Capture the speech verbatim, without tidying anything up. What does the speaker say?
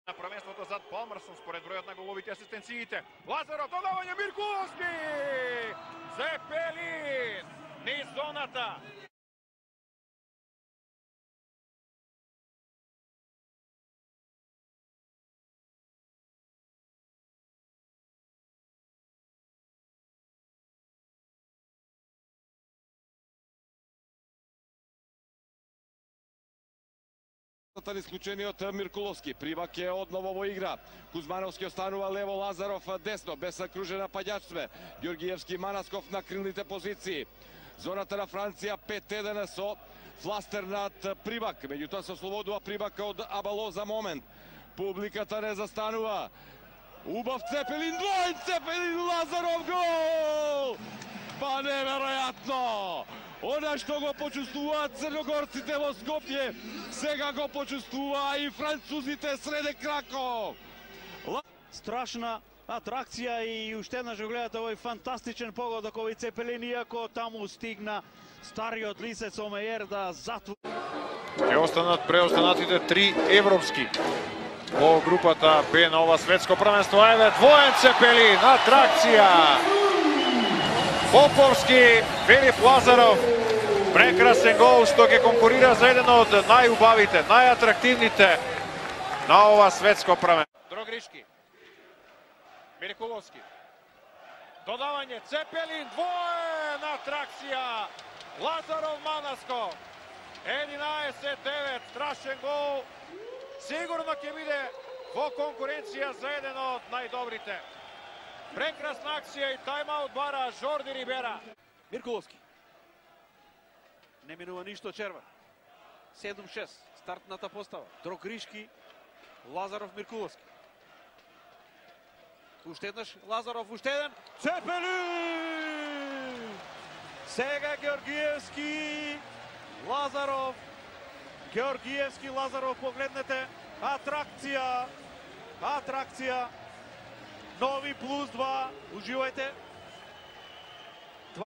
На првенството зад Палмерсон според бројот на головите асистенциите. Лазаров, додавање Миркуловски! Цепелин низ зоната. Исклучениот Миркуловски. Прибак е одново во игра. Кузмановски останува лево, Лазаров десно, без кружена паѓачстве. Георгиевски, Манасков на крилните позиции. Зоната на Франција пет еден со фластер над Прибак. Меѓутоа се ослободува Прибак од Абало за момент. Публиката не застанува. Убав Цепелин, двоен Цепелин, Лазаров гол! Па неверојатно! Она што го почувствуваат црногорците во Скопје, сега го почувствува и французите среде Краков. Страшна атракција и уште еднаш го гледате овој фантастичен погодок овој Цепелин, иако таму стигна стариот Лисец Омејер да затвори. Ќе останат преостанатите три европски во групата Б на ова светско првенство. Еве двоен Цепелин, атракција. Поповски, Филип Лазаров, прекрасен гол што ќе конкурира за еден од најубавите, најатрактивните на ова светско првенство. Дрогришки, Миркуловски, додавање Цепелин, двоен атракција, Лазаров Манасков, единаесет девет, страшен гол, сигурно ќе биде во конкуренција за еден од најдобрите. Прекрасна акција и тајмаут бара Жорди Рибера. Миркуловски. Не минува ништо червен. седум шест, стартната постава. Дрогришки, Лазаров, Миркуловски. Уште еднаш Лазаров, уште еден. Цепелин! Сега Георгиевски, Лазаров. Георгиевски, Лазаров, погледнете. Атракција. Атракција. Нови плюс два. Уживајте.